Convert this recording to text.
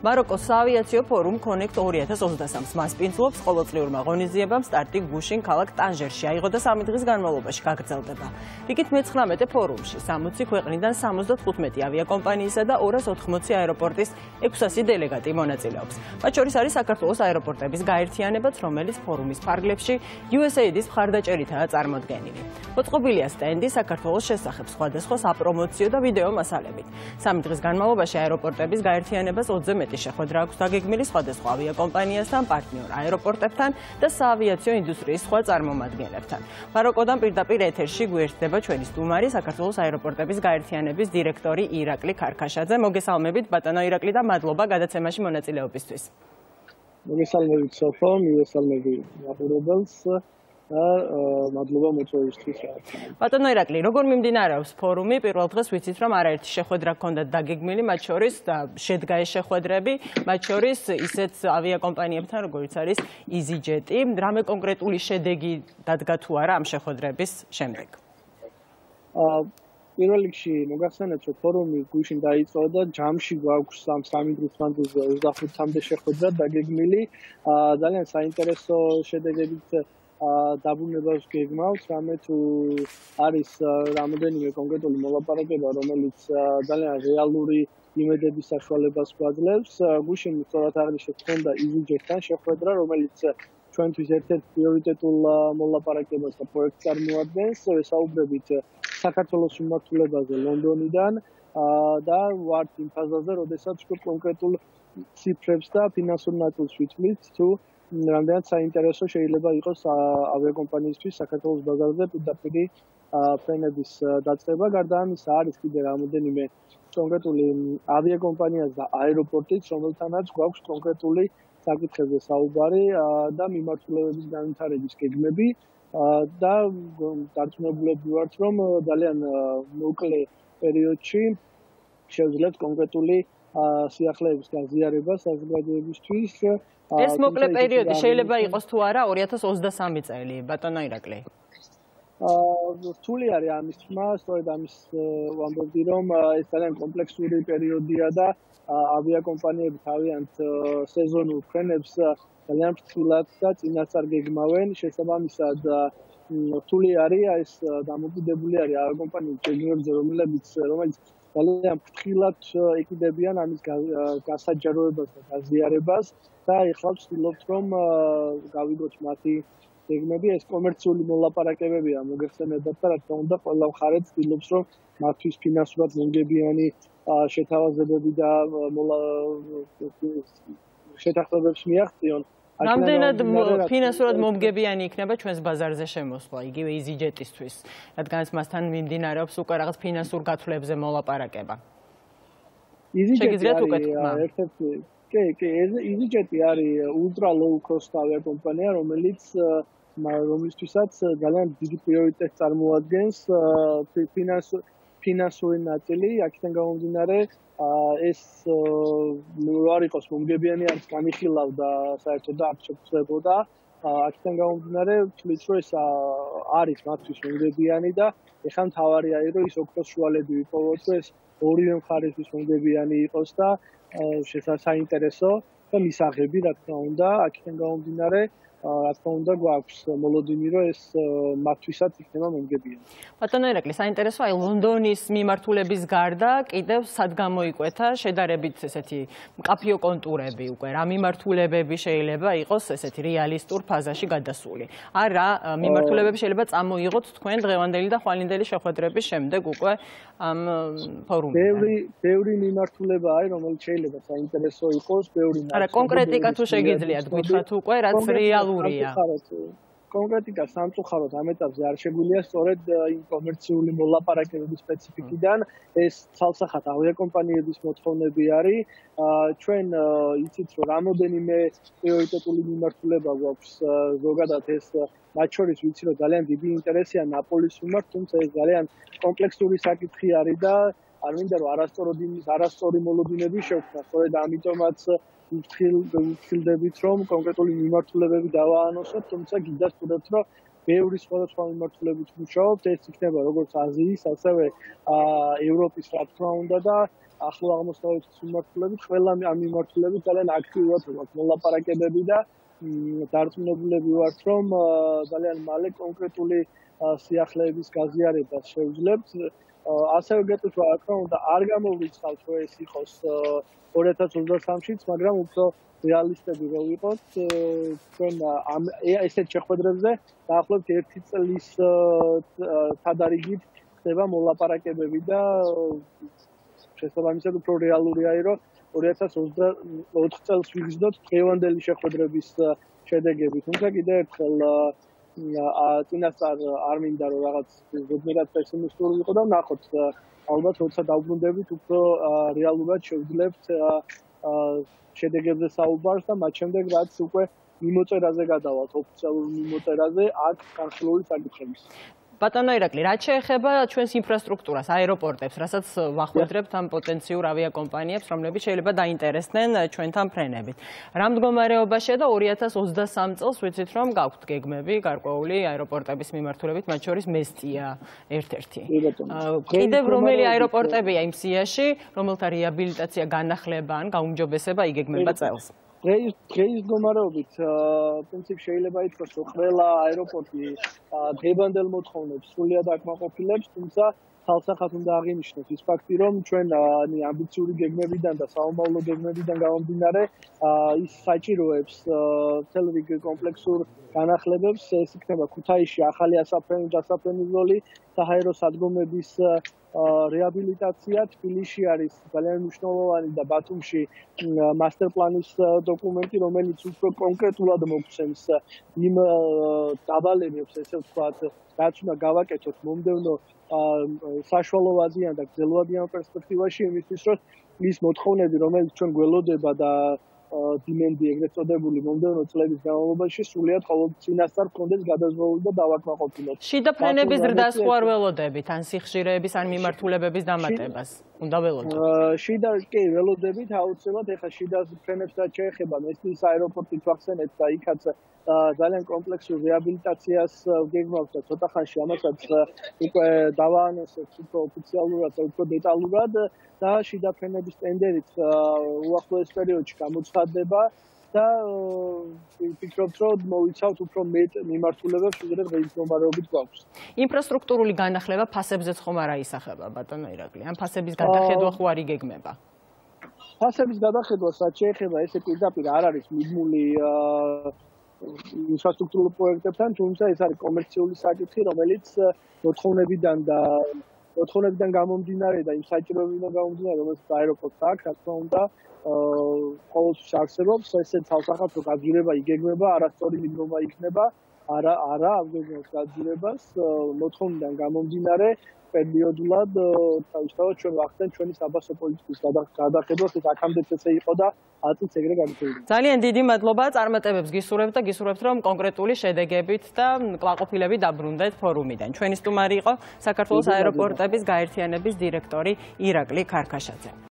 მაროკოს საავიაციო ფორუმ Connect 2023-ს მასპინძლობს ყოველწლიურმა ღონისძიებამ სტარტი გუშინ ქალაქ ტანჟერში აიღო და 3 დღის განმავლობაში გაგრძელდება. რიგით მე-19 ფორუმში 60 ქვეყნიდან 75 ავიაკომპანიისა და 280 აეროპორტის 600 დელეგატი მონაწილეობს. მათ შორის არის საქართველოს აეროპორტების გაერთიანებაც, რომელიც ფორუმის ფარგლებში USAID-ის მხარდაჭერითაა წარმოდგენილი. მოწყობილია სტენდი საქართველოს შესახებ სხვადასხვა საპრომოციო და ვიდეო მასალებით. 3 დღის განმავლობაში აეროპორტების გაერთიანებას 20-ზე მეტი შეხვედრა აქვს დაგეგმილი სხვადასხვა ავიაკომპანიასთან, პარტნიორ აეროპორტებთან და საავიაციო ინდუსტრიის სხვა წარმომადგენლებთან. მაროკოდან პირდაპირ ეთერში გვერდდება ჩვენი სტუმარი, საქართველოს აეროპორტების გაერთიანების დირექტორი ირაკლი ქარქაშაძე. მოგესალმებით ბატონო ირაკლი და მადლობა გადაცემაში მონაწილეობისთვის. მოგესალმებით სოფო, მოგესალმებით მაყურებელს. მადლობა მოწვევისთვის. ბატონო ირაკლი, როგორ მიმდინარეობს ფორუმი? პირველ დღეს ვიცით, რომ არაერთი შეხვედრა ჰქონდათ დაგეგმილი, მათ შორის შედგა ეს შეხვედრები, მათ შორის ისეთ ავიაკომპანიებთან, როგორც არის EasyJet-ი. რამე კონკრეტული შედეგი დადგა თუ არა ამ შეხვედრების შემდეგ? პირველ რიგში მოგახსენებთ, რომ ფორუმი გუშინ დაიწყო და ჯამში გვაქვს 3 დღის მანძილზე 25-მდე შეხვედრა დაგეგმილი. ძალიან საინტერესო შედეგებით დაბრუნებას გეგმავს, რამე თუ არის რამოდენიმე კონკრეტული მოლაპარაკება, რომელიც ძალიან რეალური იმედების საშუალებას გვაძლევს. გუშინ სწორად აღნიშნეთ, ხონდა EasyJet-თან შეხვედრა, რომელიც ჩვენთვის ერთ-ერთ პრიორიტეტულ მოლაპარაკებას და პროექტს წარმოადგენს. ვესაუბრებით საქართველოს მიმართულებაზე ლონდონიდან და ვართ იმ ფაზაზე, როდესაც კონკრეტულ ციფრებს და ფინანსურ ნაწილს ვითვლით, თუ რამდენად საინტერესო შეიძლება იყოს ავიაკომპანიისთვის საქართველოს ბაზარზე პირდაპირ ფრენების დაწყება. გარდა ამისა არის კიდე რამოდენიმე კონკრეტული ავიაკომპანია და აეროპორტიც, რომელთანაც გვაქვს კონკრეტული საკითხებზე საუბარი და მიმართულებების განვითარების გეგმები და დარწმუნებულები ვართ, რომ ძალიან მოკლე პერიოდში შევძლებთ კონკრეტული სიახლეების გაზიარება საზოგადოებისთვის. ეს მოკლე პერიოდი შეიძლება იყოს თუ არა 2023 წელი, ბატონო ირაკლი? რთული არის ამის თქმა, სწორედ ამის ვამბობდი, რომ ეს ძალიან კომპლექსური პერიოდია და ავიაკომპანიები თავიანთ სეზონურ ფრენებს ძალიან ფრთხილად და წინასწარ გეგმავენ. შესაბამისად, რთული არის ეს დამოკიდებული არის ავიაკომპანიების გეგმებზე, რომელიც ძალიან ფრთხილად ეკიდებიან ამის გასაჯაროებას და გაზიარებას და ეხლა ვცდილობთ, რომ გავიგოთ მათი გეგმები. ეს კომერციული მოლაპარაკებებია, მოგეხსენებათ და რა თქმა უნდა, ყველა მხარე ცდილობს, რომ მათთვის ფინანსურად მომგებიანი შეთავაზებები და შეთანხმებებს მიაღწიონ. რამდენად ფინანსურად მომგებიანი იქნება ჩვენს ბაზარზე შემოსვლა, იგივე EasyJet-ისთვის, რადგანაც მასთან მიმდინარეობს უკვე რაღაც ფინანსურ გათვლებზე მოლაპარაკება? შეგიძლიათ უკეთქმა? კი, EasyJet-ი არის ultra low cost ავიაკომპანია, რომლისთვისაც ძალიან დიდი პრიორიტეტს წარმოადგენს ფინანსური ნაწილი. აქედან გამომდინარე, ეს არ იყოს მომგებიანი, არის განიხილავდა საერთოდ და არ შეფრთხებოდა. აქედან გამომდინარე, ვთვლით, რომ ეს არის მათთვის მომგებიანი და ეხლა მთავარია, რომ ის ოქროს შუალები ვიპოვოთ, რომ ეს ორივე მხარისთვის მომგებიანი იყოს და საინტერესო და მისაღები, რა თქმა უნდა, აქედან გამომდინარე, რა თქმა უნდა, გვაქვს მოლოდინი, რომ ეს მათთვისაც იქნება მომგებიანი. ბატონო ირაკლი, საინტერესო, აი ლონდონის მიმართულების გარდა კიდევ სად გამოიკვეთა შედარებით ესეთი მკაფიო კონტურები უკვე, რა მიმართულებები შეიძლება იყოს ესეთი რეალისტურ ფაზაში გადასული? ან რა მიმართულებები შეიძლება წამოიღოთ თქვენ დღევანდელი და ხვალინდელი შეხვედრების შემდეგ უკვე ამ ფორუმში? ბევრი მიმართულება არის, რომელიც შეიძლება საინტერესო იყოს, ბევრი. არა, კონკრეტიკა თუ შეგიძლიათ გითხრათ უკვე, რაც რეალურია. კონკრეტიკა სამწუხაროდ ამ ეტაპზე არ შეგვიძლია სწორედ იმ კომერციული მოლაპარაკებების სპეციფიკიდან. ეს ცალსახად ავიაკომპანიების მოთხოვნები არის. ჩვენ იცით, რომ რამოდენიმე პრიორიტეტული მიმართულება გვაქვს ზოგადად ეს მათ შორის ვიცი, რომ ძალიან დიდი ინტერესია ნაპოლის მიმართ, თუმცა ეს ძალიან კომპლექსური საკითხი არის და არ მინდა რომ არასწორი მოლოდინები შევქმნა. სწორედ ამიტომაც ვფრთხილდებით, რომ კონკრეტული მიმართულებები დავაანონსოთ, თუმცა გინდათ, რომ ბევრი სხვადასხვა მიმართულებით ვმუშაობთ, ეს იქნება როგორც აზიის, ასევე ევროპის, რა თქმა უნდა და ახლო აღმოსავლეთის მიმართულებით, ყველა ამ მიმართულებით ძალიან აქტიურად ვართ მოლაპარაკებები და დარწმუნებულები ვართ, რომ ძალიან მალე კონკრეტული სიახლეების გაზიარებას შევძლებთ. ასევე გეტყვით, რა თქმა უნდა, არ გამოვრიცხავთ, რომ ეს იყოს 2023-შიც, მაგრამ უფრო რეალისტები რო ვიყოთ, ჩვენ ესეთ შეხვედრებზე დაახლოებით 1 წლის თადარიგით ხდება მოლაპარაკებები და შესაბამისად უფრო რეალურია, რომ 2024 წელს ვიგრძნოთ დღევანდელი შეხვედრების შედეგები. თუმცა კიდევ ერთხელ წინასწარ არ მინდა რომ რაღაც ზოგადად პესიმისტური ვიყო და ვნახოთ, ალბათ როცა დავბრუნდებით, უფრო რეალურად შევძლებთ შედეგებზე საუბარს და მათ შემდეგ რაც უკვე მიმოწერაზე გადავალთ, ოფიციალურ მიმოწერაზე აქ განხილული საკითხების. ბატონო ირაკლი, რაც შეეხება ჩვენს ინფრასტრუქტურას, აეროპორტებს, რასაც ვახვედრებთ ამ პოტენციურ ავიაკომპანიებს, რომლებიც შეიძლება დაინტერესდნენ ჩვენთან ფრენებით. რა მდგომარეობაშია და 2023 წელს ვიცით, რომ გაქვთ გეგმები გარკვეული აეროპორტების მიმართულებით, მათ შორის მესტია ერთ-ერთი. კიდევ რომელი აეროპორტებია იმ სიაში, რომელთა რეაბილიტაცია, განახლება ან გაუმჯობესება იგეგმება წელს? დღეის მდგომარეობით პრინციპში შეიძლება ითქვას, რომ ყველა აეროპორტი დღევანდელ მოთხოვნებს სრულიად აკმაყოფილებს, თუმცა ხალხსახად უნდა აღინიშნოს ის ფაქტი, რომ ჩვენ ამბიციური გეგმებიდან და საომავლო გეგმებიდან გამომდინარე ის საჭიროებს მთელ რიგ კომპლექსურ განახლებებს, ეს იქნება ქუთაისში ახალი დასაფრენი ზოლი, საჰაერო სადგომების რეაბილიტაცია, თბილისში არის ძალიან მნიშვნელოვანი და ბათუმში მასტერ პლანის დოკუმენტი, რომელიც უფრო კონკრეტულად მოგცემს იმ დავალებებს, ესე ვთქვათ, რაც უნდა გავაკეთოთ მომდევნო საშუალოვადიან და გრძელვადიან პერსპექტივაში, იმისთვის, რომ ის მოთხოვნები, რომელიც ჩვენ გველოდება და დიმენდი ეგრეთ წოდებული მომდევნო წლების განმავლობაში სრულიად წინასწარ გქონდეს გადაზღვრული და დავაკმაყოფილოთ. შიდა ფრენების ზრდას ხო არ ველოდებით, ან სიხშირეების, ან მიმართულებების დამატებას? უნდა ველოდოთ. შიდა კი ველოდებით, აუცილებლად, ეხლა შიდა ფრენებს რაც შეეხება, მესტიის აეროპორტი ვახსენეთ და იქაც ძალიან კომპლექსურ რეაბილიტაციას გეგმავს და ცოტა ხანში ამასაც უკვე დავაანონსებთ უფრო ოფიციალურად და უფრო დეტალურად და შიდა ფრენების ტენდერიც უახლოეს პერიოდში გამოცხადდება და ვფიქრობთ, რომ მოვიცავთ უფრო მეტ მიმართულებებს, ვიდრე დღეის მდგომარეობით გვაქვს. ინფრასტრუქტურული განახლება ფასებზეც ხომ არ აისახება, ბატონო ირაკლი? ან ფასების გადახედვა ხო არ იგეგმება? ფასების გადახედვას რაც შეეხება, ესე პირდაპირ არ არის მიდმული ინფრასტრუქტურულ პროექტებთან, თუმცა ეს არის კომერციული საკითხი, რომელიც მოთხოვნებიდან გამომდინარე და იმ საჭიროებიდან გამომდინარე, რომელიც აეროპორტს აქვს, რა თქმა უნდა, ყოველთვის არსებობს ესეც თავსახად რომ გაძვირება იგეგმება, არასწორი მიდგომა იქნება, არა აღგეგმავს გაძვირებას, მოთხოვნიდან გამომდინარე პერიოდულად თავისთავად ჩვენ ვახდენთ ჩვენი საბაზო პოლიტიკის გადახედვას, ეს აქამდეც ესე იყო და აწიც ეგრე განვითარდება. ძალიან დიდი მადლობა, წარმატებებს გისურვებთ და გისურვებთ, რომ კონკრეტული შედეგებით და კმაყოფილებით დაბრუნდეთ ფორუმიდან. ჩვენი სტუმარი იყო საქართველოს აეროპორტების გაერთიანების დირექტორი ირაკლი ქარქაშაძე.